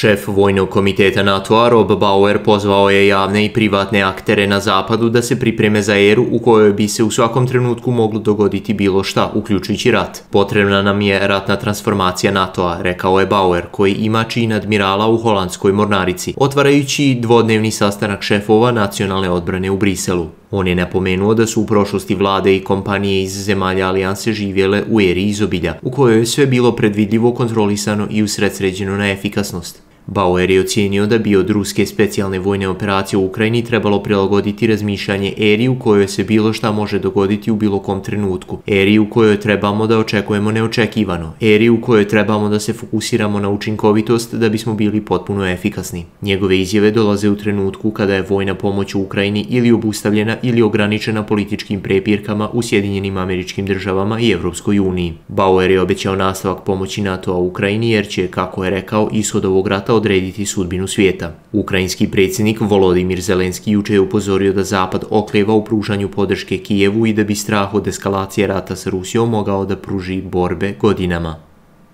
Šef Vojnog komiteta NATO-a Rob Bauer pozvao je javne i privatne aktere na zapadu da se pripreme za eru u kojoj bi se u svakom trenutku moglo dogoditi bilo šta, uključujući rat. Potrebna nam je ratna transformacija NATO-a, rekao je Bauer, koji ima čin admirala u holandskoj mornarici, otvarajući dvodnevni sastanak šefova nacionalne odbrane u Briselu. On je napomenuo da su u prošlosti vlade i kompanije iz zemalja alijanse živjele u eri izobilja, u kojoj je sve bilo predvidljivo, kontrolisano i usredsređeno na efikasnost. Bauer je ocijenio da bi od ruske specijalne vojne operacije u Ukrajini trebalo prilagoditi razmišljanje eri u kojoj se bilo šta može dogoditi u bilo kom trenutku, eri u kojoj trebamo da očekujemo neočekivano, eri u kojoj trebamo da se fokusiramo na učinkovitost da bismo bili potpuno efikasni. Njegove izjave dolaze u trenutku kada je vojna pomoć u Ukrajini ili obustavljena ili ograničena političkim prepirkama u Sjedinjenim Američkim Državama i Evropskoj uniji. Bauer je obećao nastavak pomoći NATO-a u Ukrajini jer će, kako je rekao, ishod ovog rata odrediti sudbinu svijeta. Ukrajinski predsjednik Volodimir Zelenski juče je upozorio da Zapad oklijeva u pružanju podrške Kijevu i da bi strah od eskalacije rata sa Rusijom mogao da pruži borbe godinama.